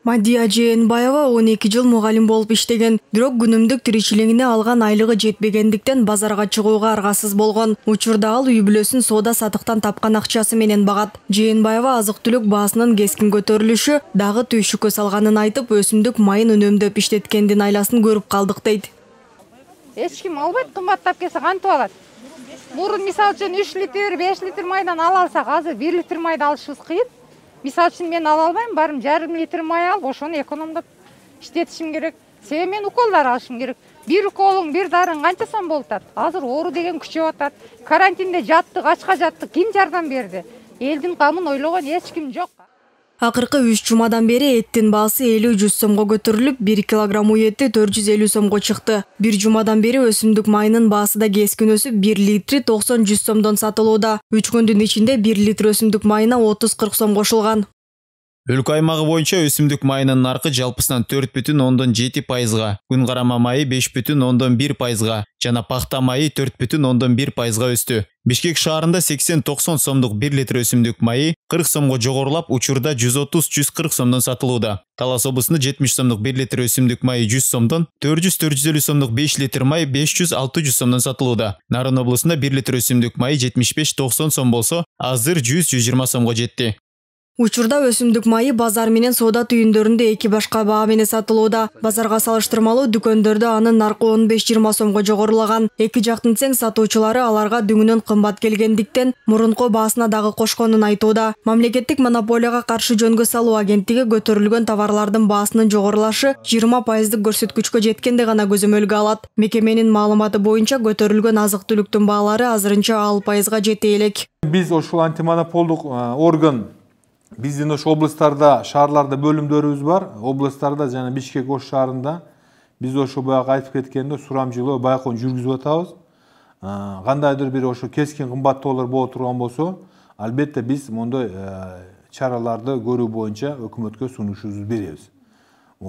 Мадия Жээнбаева 12 жыл мугалим болуп иштеген, бирок күнүмдүк тиричилигине алган айлыгы жетпегендиктен базарга чыгууга аргасыз болгон. Учурда ал үй бүлөсүн соода сатыктан тапкан акчасы менен багат. Жээнбаева азык-түлүк баасынын кескин көтөрүлүшү дагы түйшүккө салганын айтып, өсүмдүк майын үнөмдөп иштеткендин айласын көрүп калдык дейт. Эч ким албайт, кымбаттап келсе кантип алат? Мурун мисалы үчүн 3 литр, 5 литр майдан ала алсак, азыр 1 литр майды алышыбыз кыйын. Мисалы үчүн мен ала албайм, барым 1,5 литр май алып, ошону экономдоп иштетишим керек. Себеби мен уколдар алышым керек. Бир уколуң, бир дарың канча сом болуп атат? Азыр оору деген күчөп атат. Карантинде жаттык, ачка жаттык, ким жардам берди? Элдин камын ойлогон эч ким жок. Акыркы 3 жумадан бери эттин баасы 50-100 сомго көтөрүлүп, 1 килограмм үй эти 450 сомго чыкты. Бир жумадан бери өсүмдүк майынын баасы да кескин өсүп, 1 литри 90-100 сомдон сатылууда. 3 күндүн ичинде 1 литр өсүмдүк майына 30-40 сом кошулган. Өлкө аймагы боюнча өсүмдүк майынын наркы жалпысынан 4,7%, күн карама майы 5,1%, жана пахта майы 4,1%га өстү. Бишкек шаарында 80-90 сомдук 1 литр өсүмдүк майы 40 сомго жогорулап, учурда 130-140 сомдон сатылууда. Талас облусунда 70 сомдук 1 литр өсүмдүк майы 100 сомдон, 400-450 сомдук 5 литр майы 500-600 сомдон сатылууда. Нарын облусунда 1 литр өсүмдүк майы 75-90 сом болсо, азыр 100-120 сомго жетти. Учурда өсүмдүк майы базар менен соода түйүндөрүндө эки башка баа менен сатылууда. Базарга салыштырмалуу дүкөндөрдө анын наркы 15-20 сомго жогорулаган. Эки жактын тең сатуучулары аларга дүңүнөн кымбат келгендиктен мурунку баасына дагы кошконун айтууда. Мамлекеттик монополияга каршы жөнгө салуу агенттиги көтөрүлгөн товарлардын баасынын жогорулашы 20% көрсөткүчкө жеткенде гана көзөмөлгө алат. Мекеменин маалыматы боюнча көтөрүлгөн азык-түлүктүн баалары азырынча 6%га жете элек. Биз ошол антимонополдук орган биздин ошо областтарда, шаарларда бөлүмдөрүбүз бар. Областтарда жана Бишкек ош шаарында биз ошо баягы айтып кеткендей сурамчылоо байкоон жүргүзүп атабыз. Кандайдыр бир ошо кескин кымбаттоолор боло турган болсо, албетте биз мондой чараларды көрүү боюнча өкмөткө сунушубузду беребиз.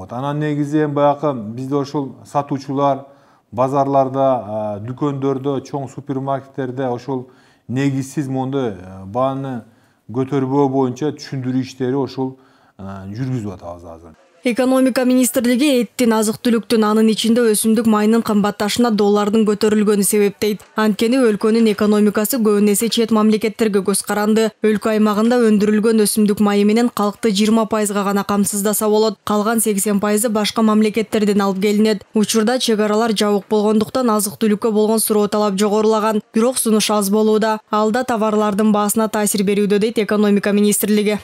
Анан негизи баягы бизде ошол сатуучулар базарларда, дүкөндөрдө, чоң супермаркеттерде ошол негизсиз мондой бааны көтөрбөө боюнча түшүндүрүү иштери ошол жүргүзүп атабыз азыр. Экономика министрлиги эттин, азык-түлүктүн, анын ичинде өсүмдүк майынын кымбатташына доллардын көтөрүлгөнү себептейт. Анткени өлкөнүн экономикасы көбүн эсе чет мамлекеттерге көз каранды. Өлкө аймагында өндүрүлгөн өсүмдүк майы менен калкты 20%га гана камсыздаса болот. Калган 80% башка мамлекеттерден алып келинет. Учурда чек аралар жабык болгондуктан азык-түлүккө болгон суроо талап жогорулаган, бирок сунуш аз болууда. Ал да товарлардын баасына таасир берүүдө, дейт экономика министрлиги.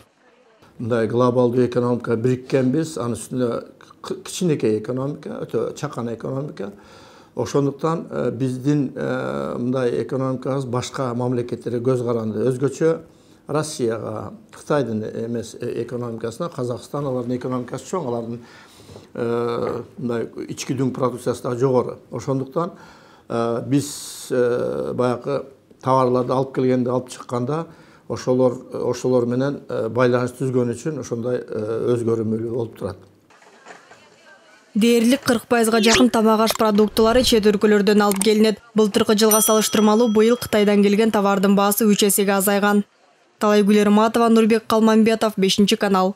Мындай глобалдуу экономика бириккенбиз, анын үстүндө кичинекей экономика, өтө чакан экономика. Ошондуктан биздин мындай экономикабыз башка мамлекеттерге көз каранды. Өзгөчө Россияга, Кытайдын эмес экономикасына, Казакстан алардын экономикасы чоң, алардын мындай ички дүң продукциясы да жогору. Ошондуктан биз баягы товарларды алып келгенде, алып чыкканда ошолор менен байланыш түзгөн үчүн ошондой өзгөрмөлүү болуп турат. Дээрлик 40%га жакын тамак аш продуктулары чет өлкөлөрдөн алып келинет. Былтыркы жылга салыштырмалуу быйыл Кытайдан келген товардын баасы 3 эсеге азайган. Талайгүл Эрматова, Нурбек Калманбетов, 5 канал.